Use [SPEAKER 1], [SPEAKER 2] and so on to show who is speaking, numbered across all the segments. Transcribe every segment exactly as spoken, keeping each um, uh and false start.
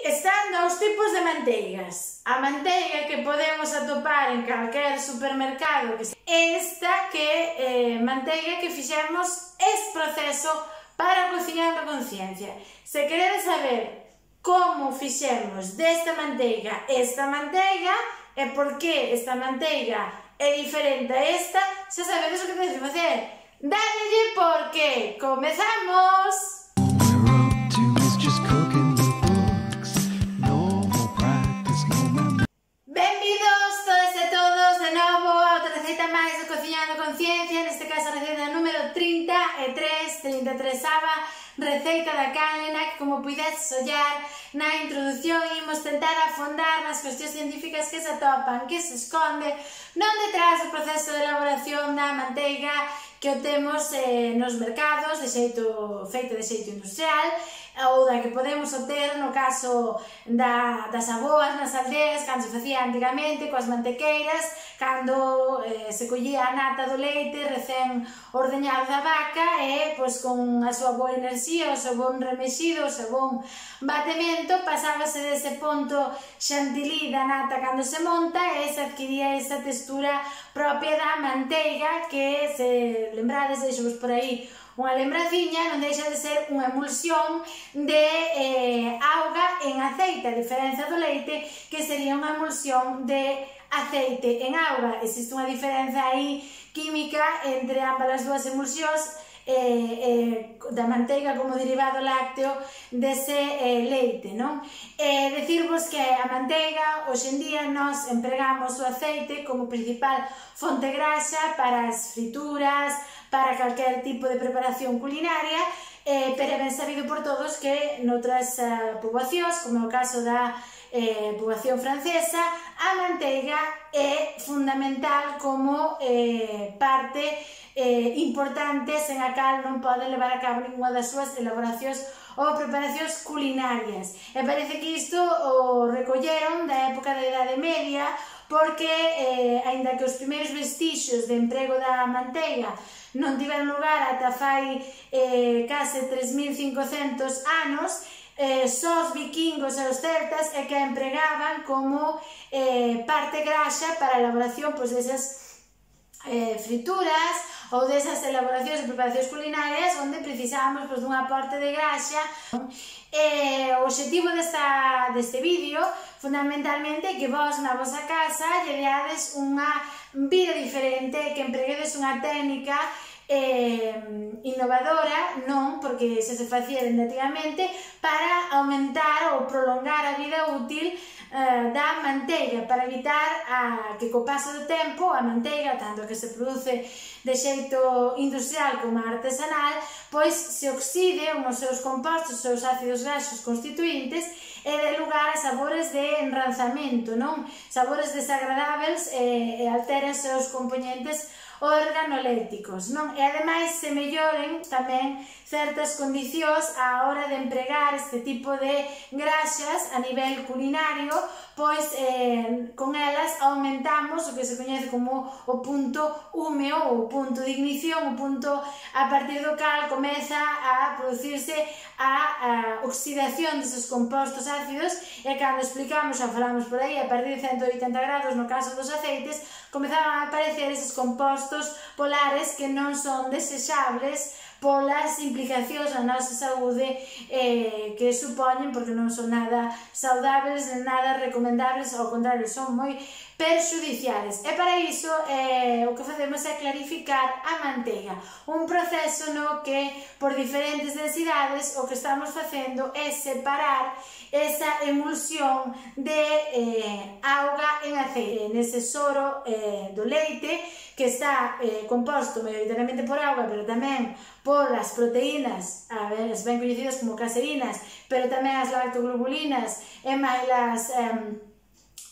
[SPEAKER 1] Están dous tipos de manteigas. A manteiga que podemos atopar en calquer supermercado, esta que é eh, manteiga que fixemos este proceso para cociñar a conciencia. Se queredes saber como fixemos desta manteiga esta manteiga e por que esta manteiga é diferente a esta, xa sabedes o que tedes que facer. Dadelle porque comezamos! Benvidos todas e todos de novo a outra receita máis de Cociñando Conciencia, neste caso a receita número trinta e tres, trinta e tres ava, receita da canela, que como puidedes ollar na introdución imos tentar afondar nas cuestións científicas que se atopan, que se esconde non detrás do proceso de elaboración da manteiga que o temos eh, nos mercados de xeito, feito de xeito industrial, ou da que podemos obter no caso da, das aboas nas aldeas, cando se facía antigamente coas mantequeiras, cando eh, se collía a nata do leite recén ordeñado da vaca e pois, con a súa boa enerxía, o seu bon remexido, o seu bon batemento, pasábase dese ponto xantilí da nata cando se monta e se adquiría esa textura propia da manteiga que, se lembrades, deixo-vos por aí unha lembraciña, non deixa de ser unha emulsión de eh, auga en aceite, a diferenza do leite que sería unha emulsión de aceite en auga. Existe unha diferenza aí química entre ambas as dúas emulsións eh, eh, da manteiga como derivado lácteo dese eh, leite, non? Eh, decirvos que a manteiga, hoxe en día, nós empregamos o aceite como principal fonte graxa para as frituras, para calquer tipo de preparación culinaria, eh, pero é ben sabido por todos que noutras uh, poboacións, como é o caso da eh, poboación francesa, a manteiga é fundamental como eh, parte eh, importante sen a cal non pode levar a cabo ninguna das súas elaboracións ou preparacións culinarias. E parece que isto o recolleron da época da Idade Media, porque, eh, aínda que os primeiros vestixios de emprego da manteiga non tiveron lugar ata fai eh, case tres mil cincocentos anos, eh, só os vikingos e os celtas é que a empregaban como eh, parte graxa para a elaboración pois, desas eh, frituras ou desas elaboracións e preparacións culinarias onde precisábamos pois, dun aporte de graxa. E o obxectivo desta, deste vídeo fundamentalmente é que vos na vosa casa lle deades unha vida diferente, que empreguedes unha técnica eh, innovadora, non porque xa se facía dende antigamente, para aumentar ou prolongar a vida útil eh, da manteiga, para evitar a, que co paso do tempo a manteiga, tanto que se produce de xeito industrial como artesanal, pois se oxide os seus compostos, os seus ácidos graxos constituintes e dé lugar a sabores de enranzamento, non? Sabores desagradables e, e alteren os seus componentes organolépticos, non? E ademais se melloren tamén certas condicións á hora de empregar este tipo de graxas a nivel culinario, pois eh, con elas aumentamos o que se coñece como o punto húmeo ou punto de ignición, o punto a partir do cal comeza a producirse a, a oxidación deses compostos ácidos e cando explicamos, xa falamos por aí, a partir de cento oitenta grados no caso dos aceites, comezaban a aparecer eses compostos polares que non son desexables polas implicacións na nosa saúde eh, que supoñen, porque non son nada saudables, nada recomendables, ao contrario, son moi perxudiciales. E para iso eh, o que facemos é clarificar a manteiga, un proceso no que por diferentes densidades o que estamos facendo é separar esa emulsión de eh, auga en aceite, nese soro eh, do leite que está eh, composto maioritariamente por auga, pero tamén por as proteínas, a ver, as ben coñecidas como caserinas, pero tamén as lactoglobulinas e máis as eh,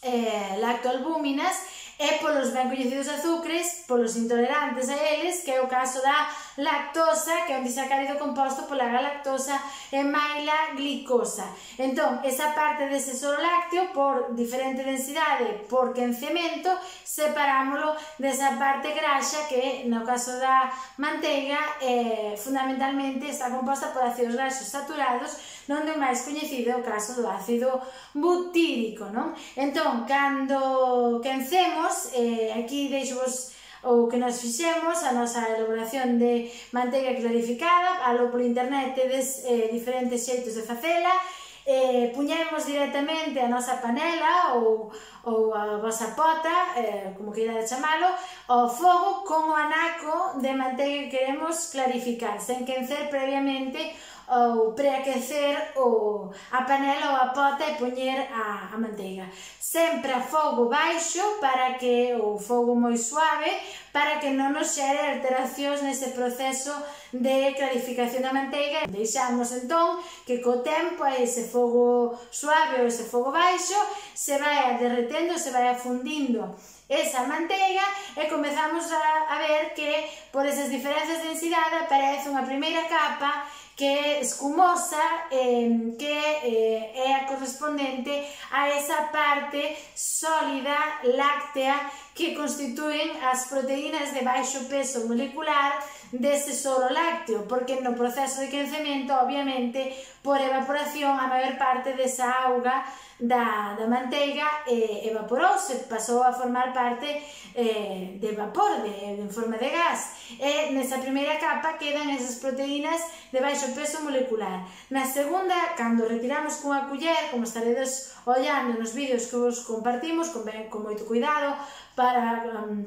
[SPEAKER 1] eh, lactoalbúminas, e polos ben coñecidos azúcares, polos intolerantes a eles, que é o caso da lactosa, que é un disacárido composto pola galactosa e maila glicosa. Entón, esa parte dese soro lácteo, por diferente densidade, por quencemento, separámoslo desa parte graxa que, no caso da manteiga, eh, fundamentalmente está composta por ácidos graxos saturados, onde o máis coñecido é o caso do ácido butírico, non? Entón, cando quencemos, Eh, aquí deixo-vos o que nos fixemos, a nosa elaboración de manteiga clarificada. Alo por internet tedes eh, diferentes xeitos de facela. Eh, puñemos directamente a nosa panela ou, ou a vosa pota, eh, como queirades chamalo, ao fogo con o anaco de manteiga que queremos clarificar, sen quencer previamente ou preaquecer o, a panela ou a pota e poñer a, a manteiga. Sempre a fogo baixo, para que o fogo moi suave, para que non nos xere alteracións nese proceso de clarificación da manteiga. Deixamos entón que co tempo a ese fogo suave ou ese fogo baixo se vai derretendo, se vai afundindo esa manteiga e comezamos a, a ver que por esas diferenzas de densidade aparece unha primeira capa que é escumosa, eh, que eh, é a correspondente a esa parte sólida láctea que constituen as proteínas de baixo peso molecular dese soro lácteo, porque no proceso de quencemento, obviamente, por evaporación, a maior parte desa auga da, da manteiga eh, evaporouse, pasou a formar parte eh, de vapor, de, de, en forma de gas, e nesa primeira capa quedan esas proteínas de baixo peso molecular. Na segunda, cando retiramos cunha culler, como estaredes ollando nos vídeos que vos compartimos, con, con moito cuidado, para um,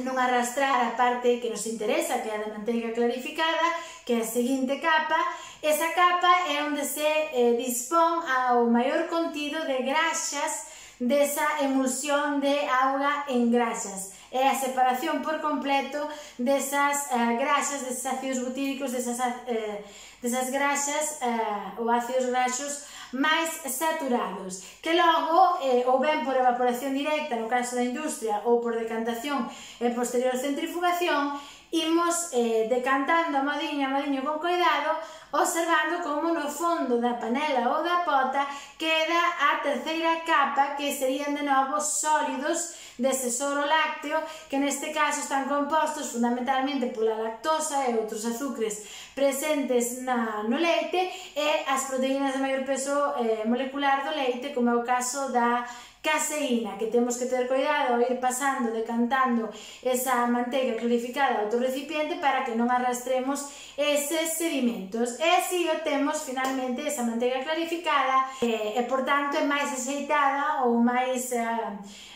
[SPEAKER 1] non arrastrar a parte que nos interesa, que é a da manteiga clarificada, que é a seguinte capa. Esa capa é onde se eh, dispón ao maior contido de graxas desa emulsión de auga en graxas. É a separación por completo desas eh, graxas, deses ácidos butíricos, desas, eh, desas graxas eh, ou ácidos graxos máis saturados, que logo, eh, ou ben por evaporación directa no caso da industria, ou por decantación e posterior centrifugación, imos eh, decantando a modiño a modiño con cuidado, observando como no fondo da panela ou da pota queda a terceira capa, que serían de novo sólidos dese soro lácteo, que neste caso están compostos fundamentalmente pola lactosa e outros azúcares presentes na, no leite, e as proteínas de maior peso eh, molecular do leite, como é o caso da caseína, que temos que ter cuidado ao ir pasando, decantando esa manteiga clarificada ao outro recipiente para que non arrastremos eses sedimentos. E así o temos finalmente esa manteiga clarificada e, e por tanto, é máis aceitada ou máis eh,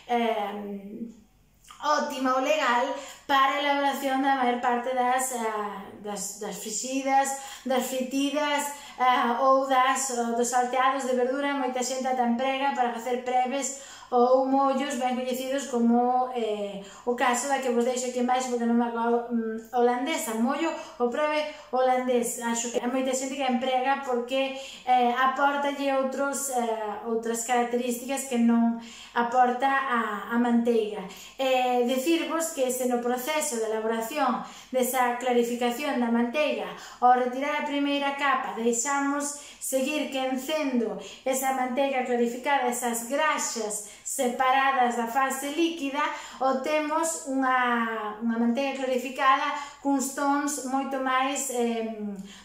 [SPEAKER 1] eh, óptima ou legal para a elaboración da maior parte das, uh, das, das frixidas, das fritidas uh, ou das, uh, dos salteados de verdura. Moita xente ata emprega para facer preves ou mollos ben coñecidos, como eh, o caso da que vos deixo aquí embaixo, porque non me acordo, um, holandesa, mollo ou preve holandés. Acho que hai moita xente que emprega porque eh, aportalle outros, eh, outras características que non aporta a, a manteiga. Eh, decirvos que se no proceso de elaboración desa clarificación da manteiga, ao retirar a primeira capa, deixamos seguir quencendo esa manteiga clarificada, esas graxas separadas da fase líquida, obtemos unha, unha manteiga clarificada cuns tons moito máis eh,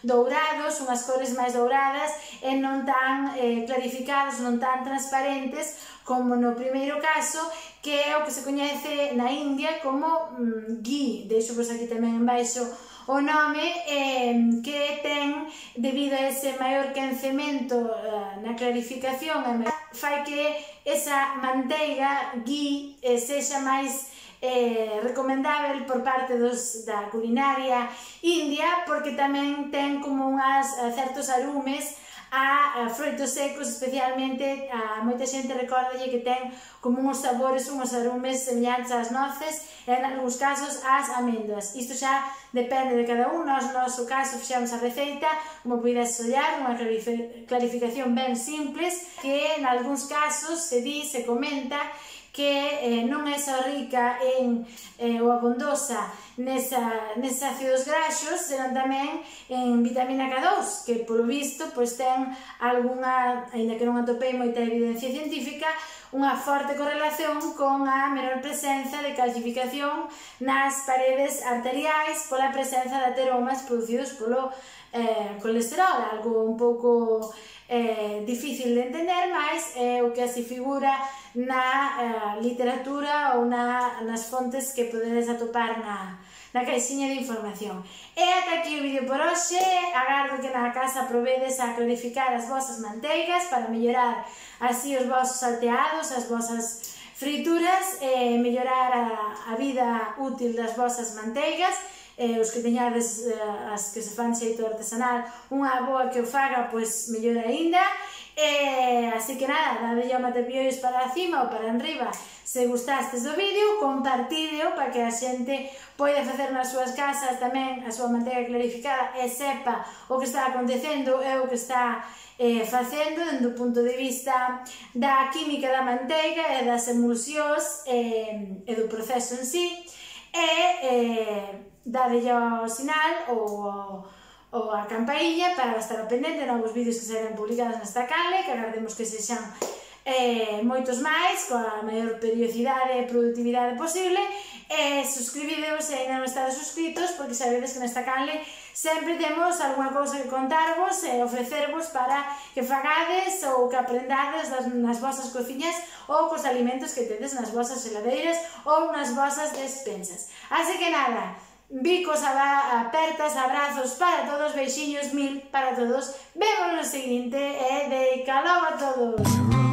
[SPEAKER 1] dourados, unhas cores máis douradas e non tan eh, clarificados, non tan transparentes como no primeiro caso, que é o que se coñece na India como mm, ghee. Deixo vos aquí tamén embaixo o nome, eh, que ten, debido a ese maior quencemento eh, na clarificación, fai que esa manteiga ghee eh, sexa máis eh, recomendável por parte dos, da culinaria india, porque tamén ten como unhas, certos arumes a, a froitos secos, especialmente a moita xente recordalle que ten como uns sabores, uns arumes semellantes ás noces e en algúns casos ás amendoas. Isto xa depende de cada un. Nos, no noso caso, fixemos a receita, como podes ollar, unha clarificación ben simples, que en algúns casos se di, se comenta que non é só rica en ou abondosa nese ácidos graxos, senón tamén en vitamina K dous, que polo visto ten algunha, aínda que non atopei moita evidencia científica, unha forte correlación con a menor presenza de calcificación nas paredes arteriais pola presenza de ateromas producidos polo colesterol, algo un pouco difícil de entender, mas é o que así figura na literatura ou nas fontes que podedes atopar na caixiña de información. E ata aquí o vídeo por hoxe. Agardo que na casa provedes a clarificar as vosas manteigas para mellorar así os vosos salteados, as vosas frituras, e mellorar a vida útil das vosas manteigas. Os que teñades as que se fan xeito artesanal, unha boa que o faga, pois mellor aínda. Así que nada, dadelle ao matepiollos para cima ou para enriba se gustastes do vídeo, compartídeo para que a xente poida facer nas súas casas tamén a súa manteiga clarificada e sepa o que está acontecendo e o que está facendo dende o punto de vista da química da manteiga e das emulsións e do proceso en sí. E dadelle ao sinal ou a campainha para estar pendente de novos vídeos que serán publicados nesta canle, que agardemos que sexan moitos máis, coa maior periodicidade e productividade posible. E suscribidevos se ainda non estades suscritos, porque sabedes que nesta canle sempre temos algunha cousa que contarvos e ofrecervos para que fagades ou que aprendades nas vosas cociñas ou cos alimentos que tedes nas vosas heladeiras ou nas vosas despensas. Así que nada, bicos apertas, abrazos para todos, beixiños mil para todos. Vemos no seguinte e de calor a todos.